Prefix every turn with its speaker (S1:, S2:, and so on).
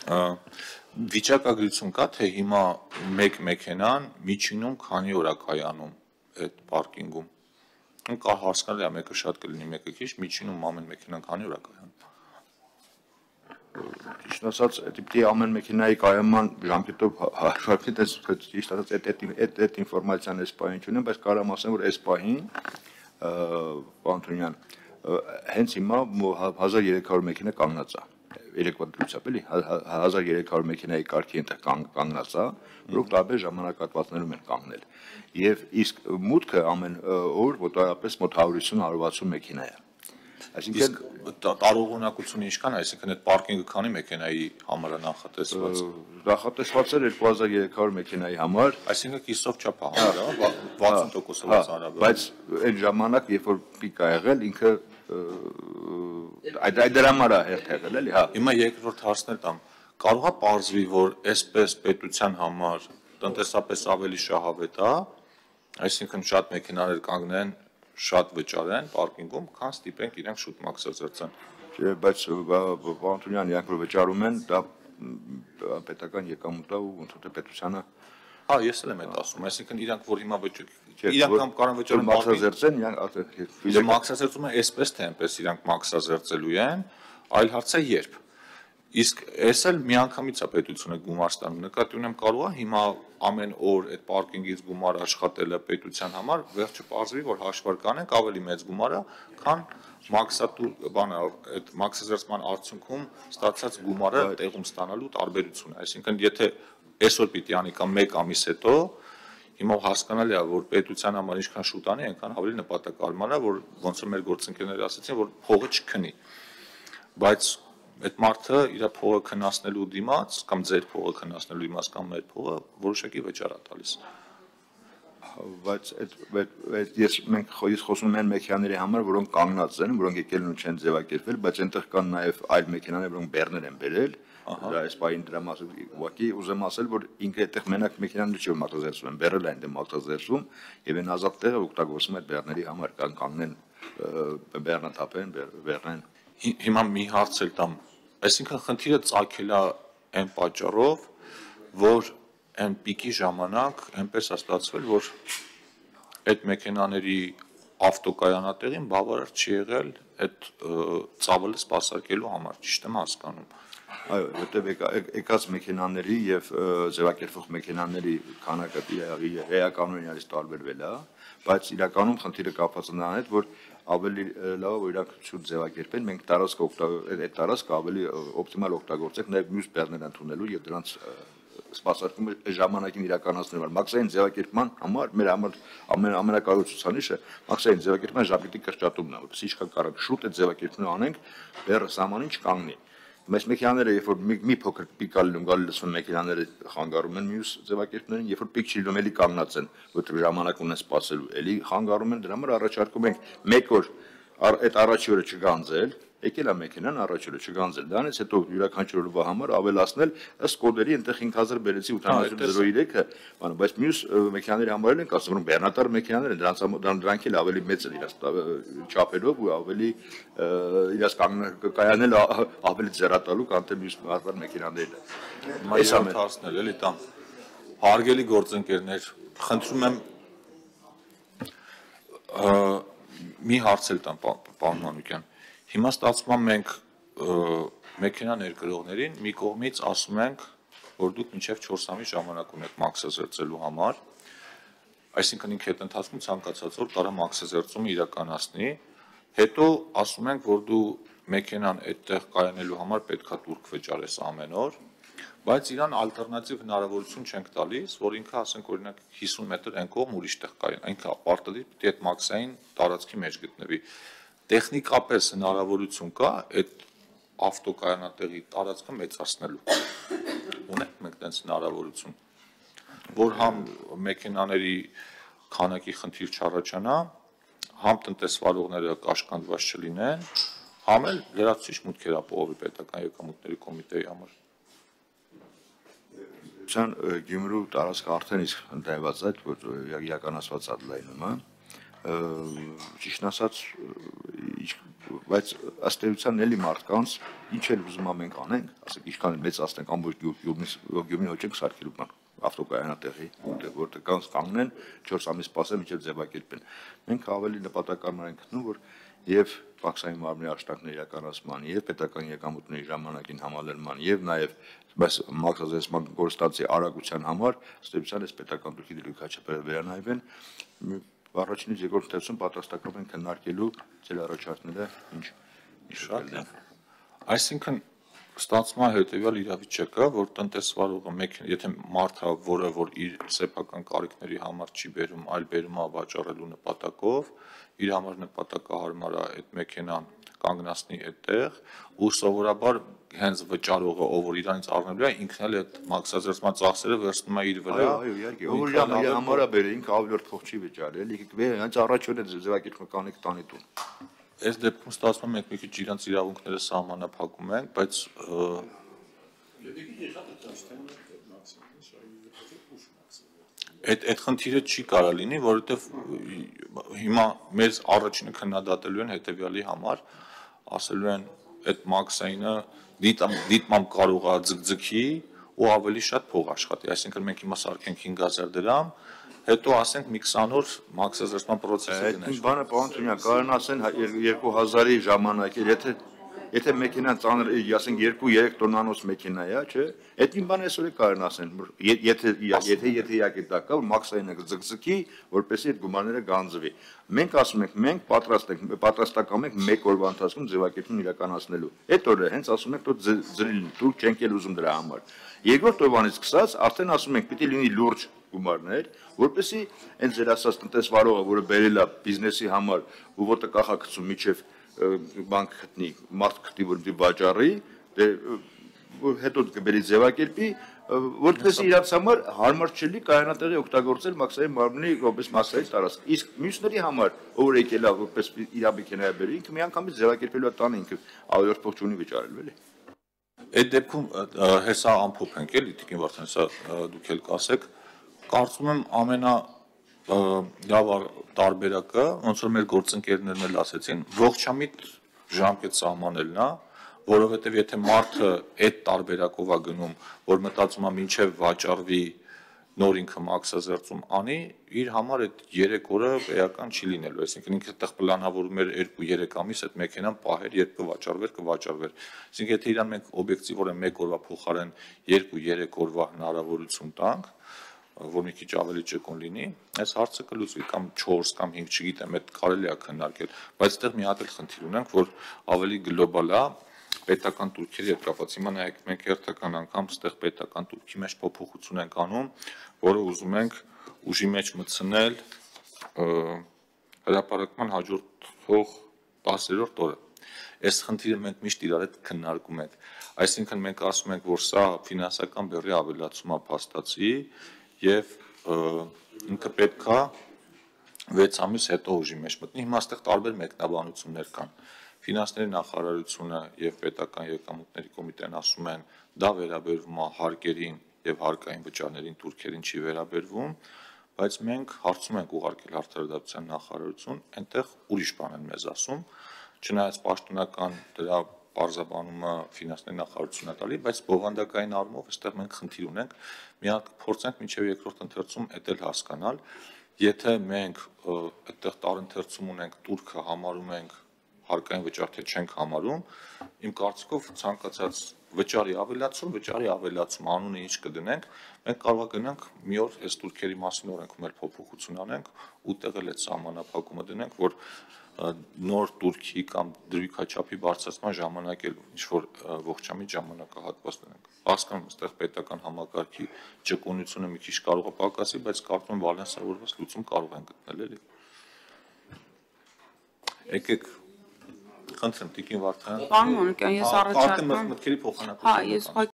S1: Վիճակագրություն կա, թե հիմա մեկ մեքենան միջինում քանի օր է կայանում այդ պարկինգում։ Կա հասկանալի է, մեկը շատ կլինի, մեկը քիչ, միջինում ամեն մեքենան քանի օր է կայանում։
S2: Ճիշտ ասած, դեպի ամեն մեքենայի կայաման ժամկետով հաշվարկի ճիշտ ասած այդ ինֆորմացիան այս պահին չունեմ, բայց կարող եմ ասեմ, որ այս պահին Պանթոնյան հենց հիմա 1300 մեքենա կանգնած է։ Երեկվա դրությամբ էլի 1300 մեքենայի կարգի այնտեղ կանգնած է, որոնք տարբեր ժամանակահատվածներում են կանգնել։ Եվ իսկ մուտքը ամեն օր մոտավորապես մոտ 150-160 մեքենա է։
S1: Այսինքն տարողունակությունը ինչքան է, այսինքն այդ պարկինգը քանի մեքենայի համար է նախատեսված։
S2: Նախատեսված էր 2300 մեքենայի համար,
S1: այսինքն կիսով չափ է համարը, 60%-ով ծանրաբեռ։
S2: Բայց այդ ժամանակ, երբ որ պիկ ա եղել, ինքը այդ դրա համար է եղել, էլի, հա։
S1: Հիմա երկրորդ հարցներ տամ, կարող է պարզվի, որ այսպես պետության համար տնտեսապես ավելի շահավետ է, այսինքն շատ մեքենաներ կանգնեն, շատ վճարեն պարկինգում, քան ստիպենք իրենք շուտ մաքսազերծեն։
S2: Բայց Պանթոնյան, իրանք որ վճարում են, դա պետական եկամուտ է ու ընդհանուր պետությանը։
S1: Հա, ես էլ եմ այդ ասում, այսինքն իրանք որ հիմա իրանք կարող վճարեն
S2: մաքսազերծեն,
S1: իրանք մաքսազերծում են այսպես թե այնպես իրանք մաքսազերծելու են, այլ հարց է երբ։ Իսկ այս էլ միանգամից է պետությունը գումար ստանում, նկատի ունեմ կարող է հիմա ամեն օր այդ պարկինգից գումար աշխատելը պետության համար, վերջը պարզվի, որ հաշվարկ անենք ավելի մեծ գումար է, քան այդ մաքսազերծման արդյունքում ստացած գումարը տեղում ստանալու տարբերությունը, այսինքն եթե այսօր պիտի անի կամ 1 ամիս հետո, հիմա հասկանալի է, որ պետության համար ինչքան շուտ անի, այնքան ավելի նպատակարար է, որ ոնց որ մեր գործընկերները ասացին, որ փողը չքնի, բայց այդ մարդը իր փողը քննացնելու դիմաց կամ ձեր փողը քննացնելու դիմաց կամ մեր փողը որոշակի վճար է տալիս։
S2: Բայց մենք խոսում ենք մեքենաների համար, որոնք կանգնած են, որոնք եկել են ու չեն ձևակերպվել, բայց այնտեղ կան նաև այլ մեքենաներ, որոնք բեռներ են բերել, դա այս պահին դրա մասին ուղղակի ուզեմ ասել, որ ինքը այդտեղ մենակ մեքենաները չի մաքսազերծում են, բեռել են դե մաքսազերծում եւ այն ազատ տեղը օգտագործում այդ բեռների համար, կանգնեն բեռնաթափեն, բեռնեն։
S1: Հիմա մի հարց էլ տամ, այսինքն խնդիրը ծագել է այն պատճառով, որ այն պիկի ժամանակ այնպես է ստացվել, որ այդ մեքենաների ավտոկայանատեղին բավարար չի եղել այդ ծավալը սպասարկելու համար, ճիշտ եմ հասկանում։
S2: Այո, որտեղ եկած մեքենաների եւ ձևակերպող մեքենաների քանակը էականորեն իրարից տարբերվել է, բայց իրականում խնդիրը կապված է նրան հետ, որ ավելի լավ է, որ իրանք շուտ ձևակերպեն, մենք այդ տարածքը ավելի օպտիմալ օգտագործենք նաև մյուս բեռներ ընդունելու եւ դրանց սպասարկումը ժամանակին իրականացնելու համար։ Մաքսային ձևակերպման համար մեր համար ամենակարևոր ցուցանիշը մաքսային ձևակերպման ժամկետի կրճատումն է, որովհետեւ ինչքան կարող շուտ այդ ձևակերպումը անենք, բեռը սահմանին չկանգնի։ Մեծ մեքենաները, երբ որ մի փոքր պիկ է լինում, գալի լսվում մեքենաները խանգարում են մյուս ձևակերպներին, երբ որ պիկ չի լինում, էլի կանգնած են, որտեղ ժամանակ ունեն սպասելու, էլի խանգարում են, դրա համար առաջարկում ենք 1 օր այդ առաջի օրը չգանձել, եկել է մեքենան առաջի օրը չգանձել, դրանից հետո յուրաքանչյուր օրվա համար ավելացնել ըստ կոդերի, այնտեղ 5000 բերեցի 8003-ը, բայց մյուս մեքենաների համար են ասում, որ բեռնատար մեքենաներ են, դրանք էլ ավելի մեծ են իրաց չափերով ու ավելի իրաց կայանել ավելի ձեռատալու, քան թե մյուս մեքենաներն։
S1: Այս ամենը էլի տամ։ Հարգելի գործընկերներ, խնդրում եմ մի հարց էլ տամ պարոն Մանուկյան։ Հիմա ստացվում է մենք մեքենա ներկրողներին մի կողմից ասում ենք, որ դուք մինչև 4 ամիս ժամանակ ունեք մաքսազերծելու համար, այսինքն ինքը այդ ընթացքում ցանկացած որ կարող մաքսազերծումը իրականացնի, հետո ասում ենք, որ դու մեքենան այդտեղ կայանելու համար պետքա տուրք վճարես ամեն օր, բայց իրան ալտերնատիվ հնարավորություն չենք տալիս, որ ինքը ասենք օրինակ 50 մետր այն կողմ ուրիշ տեղ կայան, ինքը պարտադիր պիտի այդ մաքսային տարածքի մեջ գտնվի։ Տեխնիկապես հնարավորություն կա այդ ավտոկայանատեղի տարածքը մեծացնելու։ Ունենք մենք տենց հնարավորություն, որ համ մեքենաների քանակի խնդիր չառաջանա, համ տնտեսվարողները կաշկանդված չլինեն, համ էլ լրացուցիչ մուտքեր ապահովի պետական եկամուտների կոմիտեի համար։
S2: Գյումրու տարածքը արդեն իսկ ընդայված է, որ իրականացված է լայնումը, ճիշտ ասած, բայց ըստ էության էլի մարդկանց ինչ էլ ուզում մենք անենք, ասենք ինչքան մեծ ասենք ամբողջ Գյումրին հոճենք սարքելու բան ավտոկայանատեղի, որտեղ կանգնեն 4 ամիս սպասեն մինչև ձևակերպեն։ Մենք ավելի նպատակարար ենք գտնում, որ եւ Պաքսային մարմնի աշխատանքների իրականացման, եւ պետական եկամուտների ժամանակին համալրման, եւ նաեւ մաքրազերծման գործընթացի արագության համար ստեյցիան այս պետական դուրքի դրույքաչափերը վերանայվեն։ Առաջինից երկրորդ թերթում պատրաստական են քննարկելու ձեր առաջարկները ինչ
S1: շատ լավ։ Այսինքն ստացվում է հետեւյալ իրավիճակը, որ տնտեսվարողը եթե մարդը, որը որ իր սեփական կարիքների համար չի բերում, այլ բերում է վաճառելու նպատակով, իր համար նպատակահարմար է այդ մեքենան կանգնացնի այդտեղ, ու սովորաբար հենց վճարողը, ով որ իրանից առնելու է, ինքն էլ այդ մաքսազերծման ծախսերը վերցնում է իր վրա։
S2: Այո, իհարկե, ով որ իր համար է բերել, ինքը ավելորդ փող չի վճարել, հենց առաջին է ձևակերպում կանեք տանի տուն։
S1: Այս դեպքում ստացվում է մենք մի քիչ իրանց իրավունքները սահմանափակում ենք, բայց այդ խնդիրը չի կարա լինի, որովհետև հիմա մեզ առաջինը քննադատելու են հետևյալի համար, ասելու են այդ մաքսայինը դիտմամբ կարող է ձգձգի ու ավելի շատ փող աշխատի, այսինքն մենք հիմա սարքենք 5000 դրամ, հետո ասենք մի 20 օր մաքսազերծման process-ը գնա։
S2: Այդ բանը պարոն Թունյան, կարան ասեն 2000-ի ժամանակ, եթե մեքենան ծանր, ասենք 2-3 տոննանոց մեքենա է, չէ՞, այդ մի բան այսօր կարան ասեն, եթե իհարկե դա կա, որ մաքսայինը ձգձգի, որպեսզի այդ գումարները գանձվի։ Մենք ասում ենք, մենք պատրաստական ենք 1 օրվա ընթացքում ձևակերպում իրականացնելու։ Այդ օրը հենց ասում ենք, որ դուք չենք էլ ուզում դրա համար։ Երկրորդ օրվանից սկսած արդեն ասում ենք, պիտի լինի լուրջ գումարներ, որպեսզի այն ձեր ասած տնտեսվարողը, որը բերել է բիզնեսի համար, ու որտեղ կախակցում միջև բանկ գտնի, մարդ գտնի, որ դի վաճառի, հետո կբերի ձևակերպի, որպեսզի իրաց համար հարմար չլինի կայանատեղի օգտագործել մաքսային մարմնի որպես մասսայի տարածք։ Իսկ մյուսների համար, ով որ եկել է որպես իր մեքենա է բերել, ինքը միանգամից ձևակերպելու է տանը, ինքը ավելորդ փող չունի վճարելու, էլի։
S1: Այդ դեպքում հեսա ամփոփենք էլի, Տիկին Վարդան, հեսա դուք էլ կասեք, կարծում եմ լավ տարբերակը, ոնց որ մեր գործընկերներն էլ ասեցին, ողջամիտ ժամկետ սահմանելն է, որովհետև եթե մարդը այդ տարբերակով է գնում, որ մտածում է մինչև վաճառվի նոր ինքը մաքսազերծում անի, իր համար այդ 3 օրը էական չի լինելու, այսինքն ինքը այդտեղ պլանավորում էր 2-3 ամիս այդ մեքենան պահեր, երբ կվաճառվեր։ Այսինքն եթե իրան մենք օբյեկտիվորեն 1 օրվա փոխարեն 2-3 օրվա հնարավորություն տանք, որ մի քիչ ավելի ճկուն լինի, այս հարցը կլուծվի կամ 4 կամ 5, չգիտեմ, այդ կարելի է քննարկել, բայց այդտեղ մի հատ էլ խնդիր ունենք, որ ավելի գլոբալ է պետական турքերի հետ կապված։ Հիմա նայեք, մենք հերթական անգամ այդտեղ պետական турքի մեջ փոփոխություն ենք անում, որը ուզում ենք ուժի մեջ մտցնել հրապարակման հաջորդող 10-րդ օրը։ Այս խնդիրը մենք միշտ իրար հետ քննարկում ենք։ Այսինքն մենք ասում ենք, որ սա ֆինանսական բեռի ավելացում է փաստացի եւ ինքը պետքա 6 ամիս հետո ուժի մեջ մտնի։ Հիմա այստեղ տարբեր մեկնաբանություններ կան։ Ֆինանսների նախարարությունը եւ պետական եկամուտների կոմիտեն ասում են, դա վերաբերվում է հարկերին եւ հարկային վճարներին турքերին չի վերաբերվում, բայց մենք հարցում ենք ուղարկել Արդարադատության նախարարություն, այնտեղ ուրիշ բան են մեզ ասում, չնայած պաշտոնական դրա բարձաբանումը ֆինանսների նախարարությունն է տալի, բայց բովանդակային առումով այստեղ մենք խնդիր ունենք, մի հատ փորձենք մինչեւ երկրորդ ընթերցում էլ հասկանալ, եթե մենք այդտեղ տարընթերցում ունենք турքը համարում ենք հարկային վճար թե չենք համարում, իմ կարծիքով ցանկացած վճարի ավելացում անունը ինչ կդնենք, մենք կարող է գնանք մի օր այս турքերի մասին օրենքում էլ փոփոխություն անենք, ուտեղ էլ այդ սահմանափակումը դնենք, որ նոր турքի կամ դրույքաչափի բարձրացման ժամանակ էլ ինչ-որ ողջամիտ ժամանակահատված դնենք։ Հասկանում եմ, այստեղ պետական համակարգի ճկունությունը մի քիչ կարող է պակասի, բայց կարծում եմ բալանսավորված լուծում կարող են գտնել, էլի։ Եկեք խնդրեմ Տիկին Վարդան։
S3: Պարոն Մանուկյան, ես առաջարկում եմ
S1: մտքերի փոխանակություն։